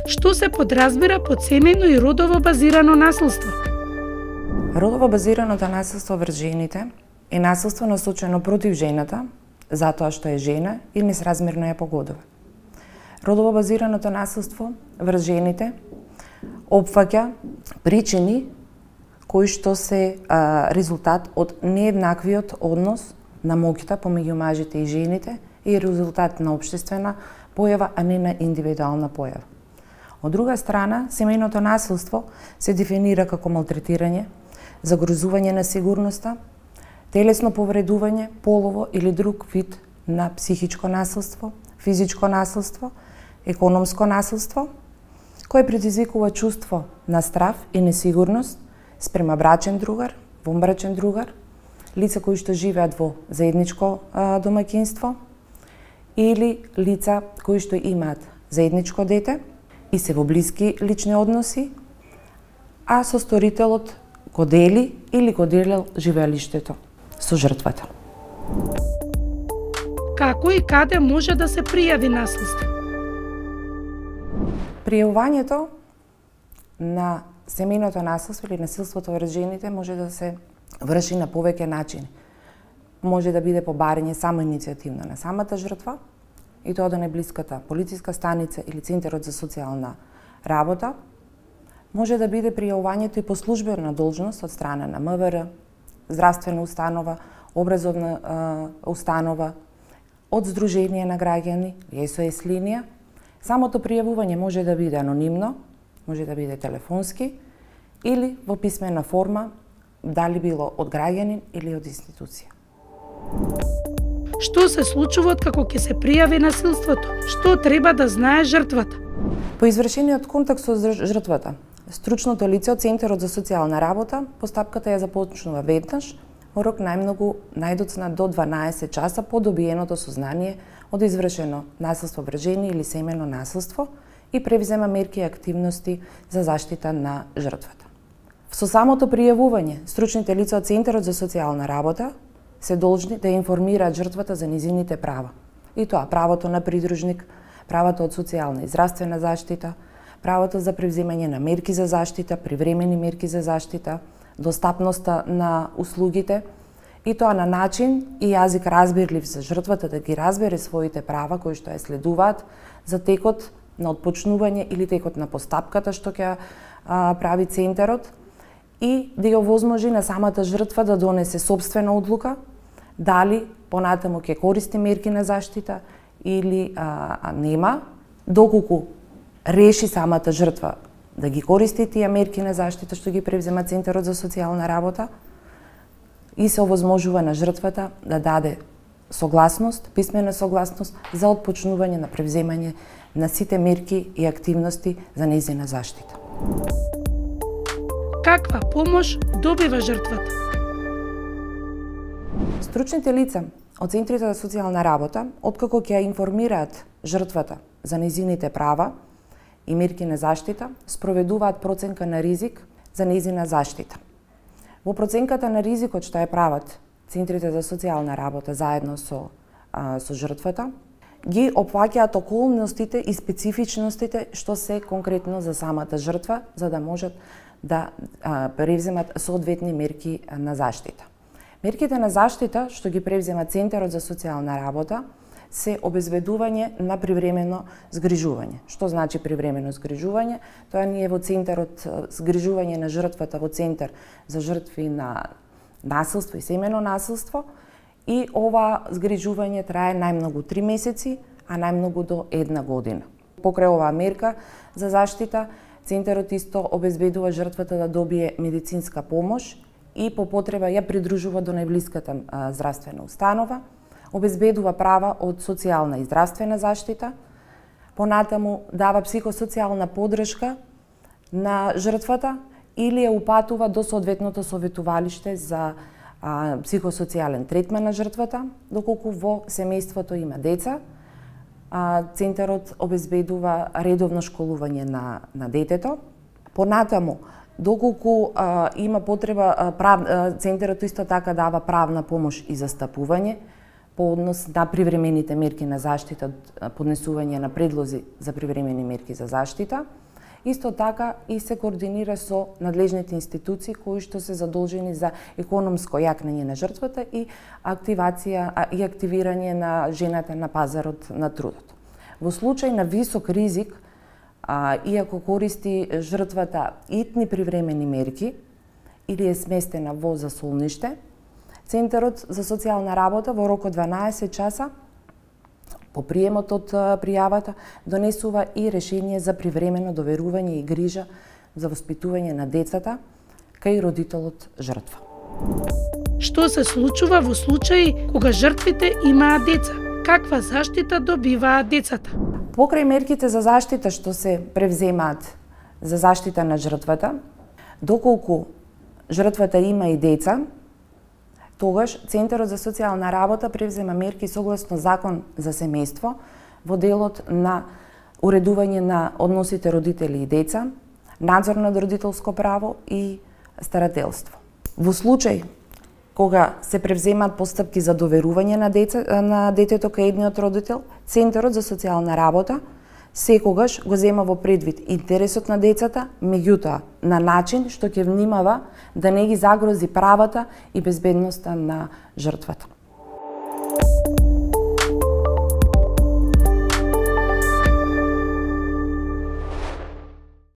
Што се подразбира под семејно и родово базирано насилство? Родово базираното насилство врз жените е насилство насочено против жената, затоа што е жена и несразмерно ја погодува. Родово базираното насилство врз жените опфаќа причини кои што се резултат од нееднаквиот однос на моќта помеѓу мажите и жените и резултат на општествена појава, а не на индивидуална појава. Од друга страна, семејното насилство се дефинира како малтретирање, загрозување на сигурноста, телесно повредување, полово или друг вид на психичко насилство, физичко насилство, економско насилство, кое предизвикува чувство на страв и несигурност спрема брачен другар, вонбрачен другар, лица кои што живеат во заедничко домаќинство или лица кои што имаат заедничко дете и се во блиски лични односи, а состорителот го дели или го делел живеалиштето со жртвата. Како и каде може да се пријави насилство? Пријавувањето на семејното насилство или насилството врз жените може да се врши на повеќе начини. Може да биде по барање самоиницијативно на самата жртва, и тоа до најблиската полициска станица или центарот за социјална работа. Може да биде пријавувањето и по службена должност од страна на МВР, здравствена установа, образовна установа, од Сдружение на граѓани, SOS линија. Самото пријавување може да биде анонимно, може да биде телефонски или во писмена форма, дали било од граѓанин или од институција. Што се случува како ќе се пријави насилството? Што треба да знае жртвата? По извршениот контакт со жртвата, стручното лице од Центарот за социјална работа постапката ја започнува веднаш, во рок најдоцна до 12 часа по добиеното сознание од извршено насилство врз жени или семејно насилство и превзема мерки и активности за заштита на жртвата. Со самото пријавување, стручните лица од Центарот за социјална работа се должни да информираат жртвата за низините права. И тоа правото на придружник, правото од социјална и здравствена заштита, правото за превземање на мерки за заштита, привремени мерки за заштита, достапноста на услугите, и тоа на начин и јазик разбирлив за жртвата да ги разбере своите права кои што ја следуваат за текот на отпочнување или текот на постапката што ќе прави центарот и да ја овозможи на самата жртва да донесе сопствена одлука дали понатаму ќе користи мерки на заштита или нема, доколку реши самата жртва да ги користи тие мерки на заштита што ги превзема Центарот за социјална работа и се овозможува на жртвата да даде согласност, писмена согласност за отпочнување на превземање на сите мерки и активности за нејзина заштита. Каква помош добива жртвата? Стручните лица од Центрите за социјална работа, откако ќе ја информираат жртвата за нејзините права и мерки на заштита, спроведуваат проценка на ризик за нејзина заштита. Во проценката на ризикот што ја прават Центрите за социјална работа заедно со жртвата, ги опфаќаат околностите и специфичностите што се конкретно за самата жртва, за да можат да превземат соодветни мерки на заштита. Мерките на заштита што ги превзема Центарот за социјална работа се обезбедување на привремено згрижување. Што значи привремено згрижување? Тоа ние во Центарот згрижување на жртвата во Центар за жртви на насилство и семејно насилство и ова згрижување трае најмногу 3 месеци, а најмногу до 1 година. Покрај оваа мерка за заштита, Центарот исто обезбедува жртвата да добие медицинска помош и по потреба ја придружува до најблиската здравствена установа, обезбедува права од социјална и здравствена заштита, понатаму дава психосоцијална поддршка на жртвата или ја упатува до соодветното советувалиште за психосоцијален третман на жртвата, доколку во семејството има деца. Центарот обезбедува редовно школување на детето. Понатаму, доколку има потреба, Центарот исто така дава правна помош и застапување, по однос на привремените мерки на заштита, поднесување на предлози за привремени мерки за заштита. Исто така и се координира со надлежните институции кои што се задолжени за економско јакнење на жртвата и активација и активирање на жената на пазарот на трудот. Во случај на висок ризик, иако користи жртвата итни привремени мерки или е сместена во засолниште, Центарот за социјална работа во рок од 12 часа по приемот од пријавата донесува и решение за привремено доверување и грижа за воспитување на децата кај родителот жртва. Што се случува во случаи кога жртвите имаат деца? Каква заштита добиваат децата? Покрај мерките за заштита што се превземаат за заштита на жртвата, доколку жртвата има и деца, тогаш Центарот за социјална работа превзема мерки согласно Закон за семејство во делот на уредување на односите родители и деца, надзор над родителско право и старателство. Во случај кога се превземаат постапки за доверување на детето кај едниот родител, Центарот за социјална работа секогаш го зема во предвид интересот на децата, меѓутоа на начин што ќе внимава да не ги загрози правата и безбедноста на жртвата.